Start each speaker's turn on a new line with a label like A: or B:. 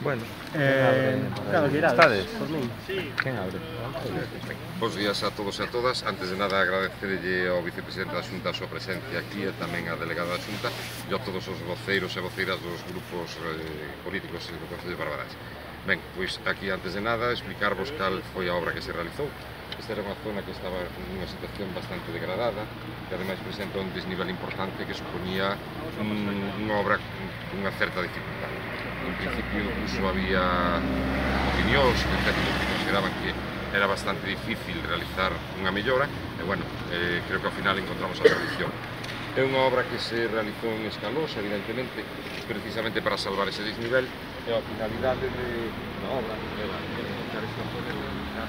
A: Bueno, cando queirades.
B: Estades?
A: Por min.
B: Quen abre?
C: Bos días a todos e a todas. Antes de nada, agradecerlle ao vicepresidente da Xunta a súa presencia aquí e tamén á delegada da Xunta e a todos os voceiros e voceiras dos grupos políticos do Concello de Barbadás. Ben, pois aquí antes de nada explicarvos cal foi a obra que se realizou. Esta era unha zona que estaba nunha situación bastante degradada, que ademais presenta un desnivel importante que supoñía unha obra cunha certa dificultade. En principio incluso había opinións de técnicos que consideraban que era bastante difícil realizar unha mellora e, bueno, creo que ao final encontramos a solución. É unha obra que se realizou en Escalós, evidentemente, precisamente para salvar ese desnivel e a finalidade da obra era realizar esta zona e realizar